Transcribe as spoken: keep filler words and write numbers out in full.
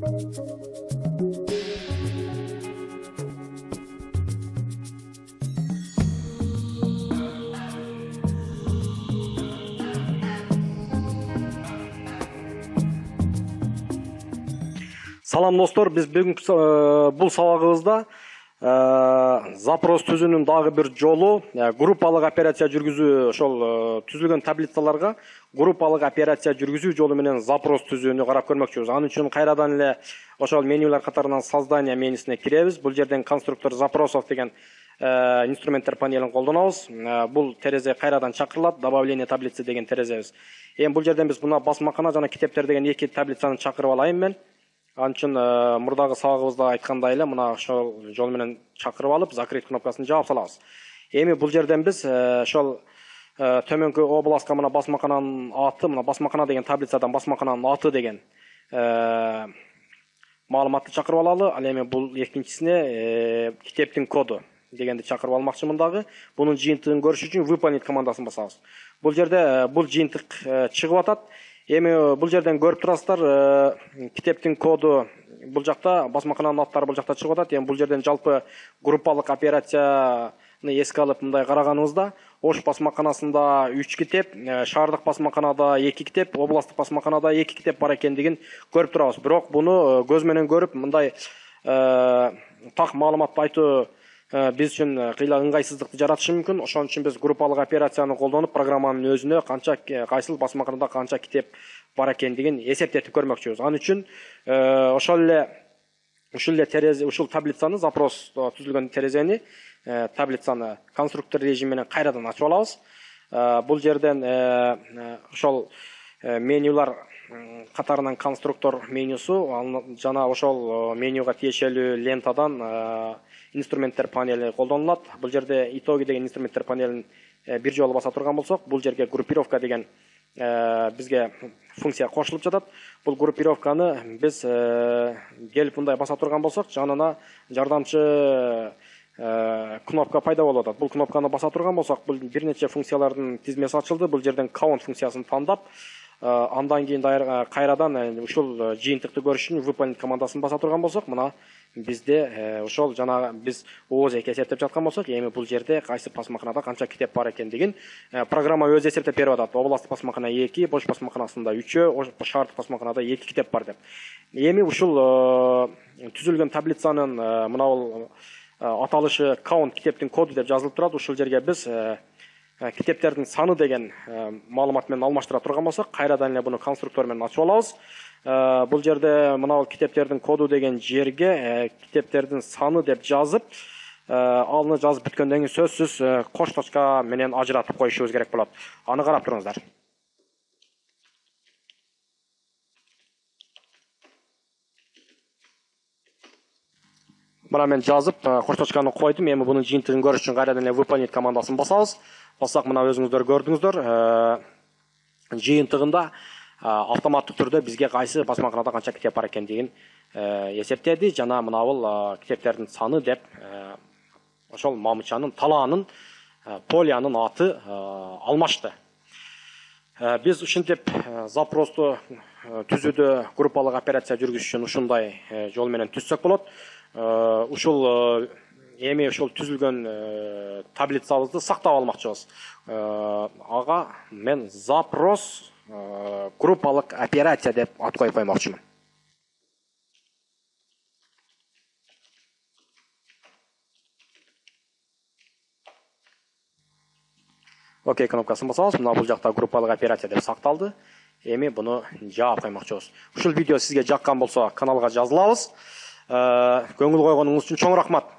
Салам достор, биз бүгүнкү бул сабагыбызда запрос түзүүнүн дагы бир жолу группалык операция жүргүзүү, ошол түзүлгөн таблицаларга группалык операция жүргүзүү жолу менен запрос түзүүнү карап көрмөкчүбүз. Анын үчүн кайрадан эле ошол менюлар катарынан создание менюсуна киребиз. Бул жерден конструктор запросов деген инструменттер панелин колдонобуз. Бул терезе кайрадан чакырылат, добавление таблицы деген терезебиз. Эми бул жерден биз мына басмакана жана китептер деген эки таблицаны чакырып алайын мен. Анын үчүн мурдагы сабагыбызда айткандай эле мына ошол жол менен чакырып алып, закрыть кнопкасын жаап салабыз. Эми бул жерден биз ошол төмөнкү областка мына басмакананын аты, мына басмакана деген таблицадан басмакананын аты деген маалыматты чакырып алалы. Ал эми бул экинчисине китептин коду дегенди чакырып алмакчымын дагы. Бунун жыйынтыгын көрүш үчүн выполнить командасын басабыз. Бул жерде бул жыйынтык чыгып атат. Эми бул жерден көрүп турасыздар, китептин коду бул жакта, басмакананын аттары бул жакта чыгып атат. Эми бул жерден жалпы группалык операцияны эске алып мындай караганыбызда, Ош басмаканасында үч китеп, шаардык басмаканада эки китеп, областтык басмаканада эки китеп бар экендигин көрүп турабыз. Бирок буну көз менен көрүп, мындай так маалыматты айтуу биз үчүн кыйла ыңгайсыздыкты жаратышы мүмкүн. Ошон үчүн биз группалык операцияны колдонуп, программанын өзүнө канча кайсыл басмаканада канча китеп бар экендигин эсептетип көрмөкчүбүз. Анын үчүн ошол эле ушул эле терезе, ушул таблицаны, запрос түзүлгөн терезени, таблицаны конструктор режим менен кайрадан ачып алабыз. Бул жерден ошол менюлар катарынан конструктор менюсу жана ошол менюга тиешелүү лентадан инструменттер панели колдонулат. Бул жерде итоги деген инструменттер панелин бир жолу баса турган болсок, бул жерге группировка деген бизге функция кошулуп жатат. Бул группировканы биз келип мындай баса турган болсок, жанына жардамчы кнопка пайда болуп атат. Бул кнопканы баса турган болсок, бул бир нече функциялардын тизмеси ачылды. Бул жерден count функциясын тандап, андан кийин кайрадан ушул жыйынтыкты көрүш үчүн выполнить командасын баса турган болсок, мына бизде ошол жана биз ооз эки эсептеп жаткан болсок, эми бул жерде кайсы басмаканада канча китеп бар экендигин программа өзү эсептеп берип атат. Областтык басмакана эки, Ош басмаканасында үчөө, шаардык басмаканада эки китеп бар деп. Эми ушул түзүлгөн таблицанын мына бул аталышы count китептин коду деп жазылып турат. Ушул жерге биз китептердин саны деген маалымат менен алмаштыра турган болсок, кайрадан эле буну конструктор менен ачып алабыз. Бул жерде мына китептердин коду деген жерге китептердин саны деп жазып, аны жазып бүткөндөн кийин сөзсүз кош точка менен ажыратып коюшубуз керек болот. Аны карап туруңуздар. Мына мен жазып, кош точканы койдум. Эми бунун жыйынтыгын көрүш үчүн кайрадан эле выполнить командасын басабыз. Бассак, мына өзүңүздөр көрдүңүздөр. Жыйынтыгында автоматтык түрдө бизге кайсы басмаканада канча китеп бар экендигин эсептеди. Жана мына бул китептердин саны деп ошол мамычанын, талаанын, полиянын аты алмашты. Биз ушинтип запросту түзүүдө группалык операция жүргүзүш үчүн ушундай жол менен түзсөк болот. Ушул эми ошол түзүлгөн таблицабызды сактап алмакчыбыз. Ага мен запрос группалык операция деп ат коюп коймокчумун. Окей кнопкасын басабыз. Мына бул жакта группалык операция деп сакталды. Эми буну жаап коймокчубуз. Ушул видео сизге жаккан болсо, каналга жазылабыз. Көңүл койгонуңуз үчүн чоң рахмат.